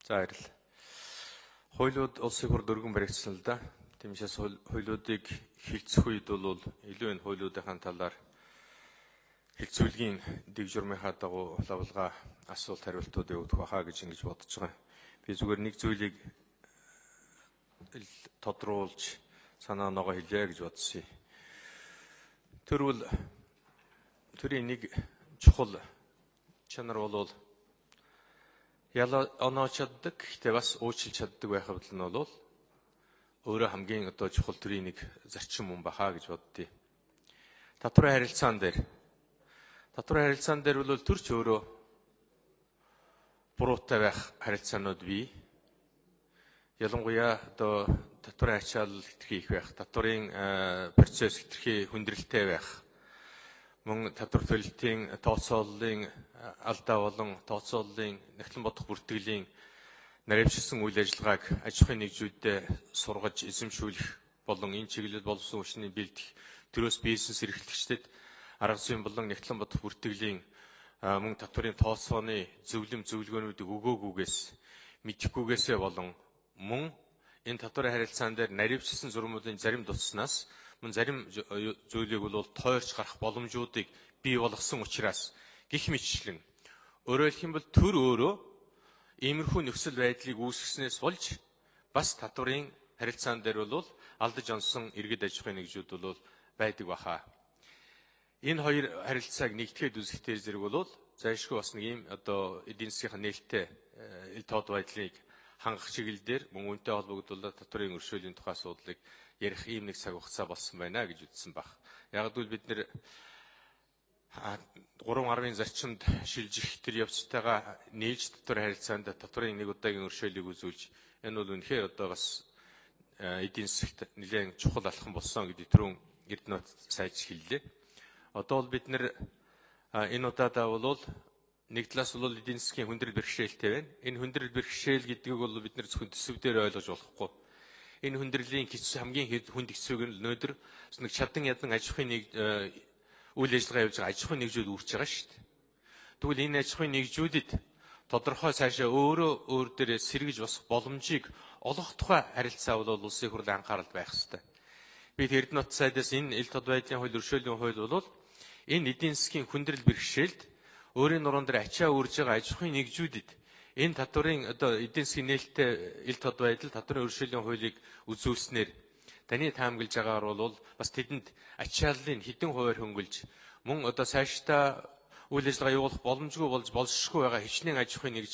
За баярлалаа. Хуулиуд улсын хур дөрвөн баригдсан л да. Тиймээс хуулиудыг хилцэх үед бол илүү энэ хуулиудын талаар хилцүүлгийн дэг журмынхаа дагуу лавлгаа асуулт хариултууд өгөх байхаа гэж ингэж бодож байгаа. Би зүгээр нэг зүйлийг тодруулж санаа оноогоо хэлье гэж бодсон. Төрийн нэг чухал чанар бол яла оноо чаддаг, гэхдээ бас уучлж чаддаг байх хэвэл нь бол өөрөө хамгийн чухал төрийн нэг зарчим юм бахаа гэж боддیں۔ Татварын харилцаан дээр бол төрч өөрөө буруутай байх харилцаанууд бий. Ялангуяа татварын ачаалал хэтэрхий их байх, татварын процесс хэтэрхий хүндрэлтэй байх. Мөн татвар төлөлтийн тооцооллын алдаа болон тооцооллын нягтлан бодох бүртгэлийн наривчилсан үйл ажиллагааг аж ахуйн нэгжүүдэд сургаж эзэмшүүлэх болон энэ чиглэлд болсон хүчний бэлдэх төрөөс бизнес эрхлэгчдэд арга зүйн болон нягтлан бодох бүртгэлийн мөн татварын тооцооны зөвлөгөөнүүдийг өгөөгүйгээс мэдэхгүйгээсээ болон мөн энэ татварын харилцаан дээр наривчилсан зурмуудын зарим дутснаас мөн зарим зүйлийг бол тойрч гарах боломжуудыг бий болгосон учраас гэх мэтчлэн өөрөөр хэлэх юм бол төр өөрөө иймэрхүү нөхцөл байдлыг үүсгэснээс болж бас татварын харилцаан дээр бол алдаж онсон иргэд аж ахуйн нэгжүүд бол байдаг баха. Энэ хоёр харилцааг нэгтгэхэд үзэхдээ зэрэг бол зайлшгүй бас нэг ийм эдийн засгийн нээлттэй ил тод байдлыг хангах чиглэлээр мөн үнэтэй холбогдуулаад татварын өршөөлийн тухай асуудлыг ярих ийм нэг цаг хугацаа болсон байна гэж үзсэн баг. Яг л бид нэр 3.10-ын зарчимд шилжих тэр явцтайгаа нийлж татварын харилцаанд татварын нэг удаагийн өршөөлийг үзүүлж энэ бол үнэхээр бас эдийн засагт нэлээд чухал алхам болсон гэдэг түрүүн Эрдэнэт сайж хэллээ. Одоо бол бид нэр энэ удаадаа бол нэг талаас бол эдийн засгийн хүндрэл бэрхшээлтэй байна. Энэ хүндрэл бэрхшээл гэдгийг бол бид нэр зөвхөн төсөв дээр ойлгож болохгүй. Энэ хүндрэлийн хамгийн хүнд хэсэг нь өнөөдөр нэг чадан ядан аж ахуйн үйл ажиллагаа явуулж байгаа аж ахуйн нэгжүүд үүрч байгаа шүү дээ. Тэгвэл энэ аж ахуйн нэгжүүдэд тодорхой цаашаа өөр дээрээ сэргэж босох боломжийг олгох тухай харилцаа бол улсын хурлын анхаарал байх ёстой. Бид Эрдэнэт сайдаас энэ ил тод байдлын хууль, өршөөлийн хууль бол энэ эдийн засгийн хүндрэл бэрхшээлд өөрийн нуруунд дээр ачаа үрж байгаа аж ахуйн нэгжүүдэд энэ татварын эдийн засгийн нээлттэй ил тод байдал татварын өршөөлийн хуулийг үзүүлснээр таны таамаглаж байгаагаар бол бас тэдэнд ачааллын хэдэн хувиар хөнгөлж мөн цаашдаа үйл ажиллагаа явуулах боломжгүй болж болшгүй байгаа хичнээн аж ахуйн нэгж